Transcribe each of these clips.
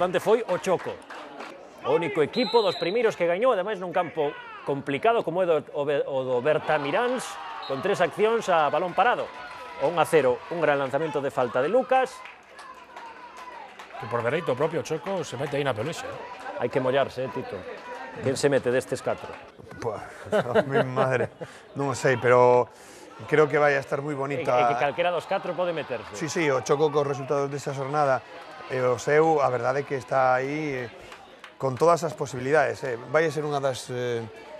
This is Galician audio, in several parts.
importante foi o Choco. O único equipo dos primeiros que gañou, ademais nun campo complicado como é o do Bertamiráns, con 3 accións a balón parado. O 1-0, un gran lanzamento de falta de Lucas. Que por dereito o propio Choco se mete aí na pelexa. Hai que mollarse, Tito. Quen se mete destes 4? Pues, mi madre, non o sei, pero creo que vai a estar moi bonita. E que calquera dos 4 pode meterse. Sí, sí, o Choco cos resultados desta xornada, o seu, a verdade é que está aí con todas as posibilidades. Vai a ser unha das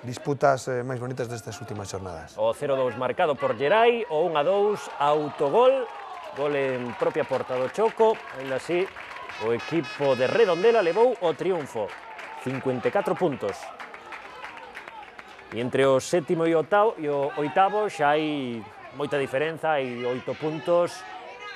disputas máis bonitas destas últimas xornadas. O 0-2 marcado por Gerai, o 1-2 autogol, gol en propia porta do Choco, ainda así o equipo de Redondela levou o triunfo, 54 puntos. E entre o sétimo e o oitavo xa hai moita diferenza, hai 8 puntos,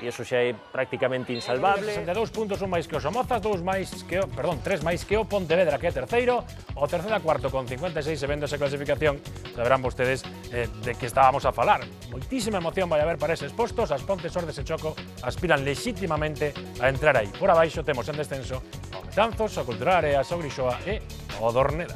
e iso xa é prácticamente insalvable. 62 puntos, un máis que o Somozas, 3 máis que o Pontevedra, que é terceiro, o terceiro a cuarto con 56 e vendo esa clasificación, saberán vostedes de que estábamos a falar. Moitísima emoción vai haber para eses postos, as Pontes, Ordes e Choco aspiran lexítimamente a entrar aí. Por abaixo temos en descenso o Betanzos, o Cultural Áreas, o Grixoa e o Dorneda.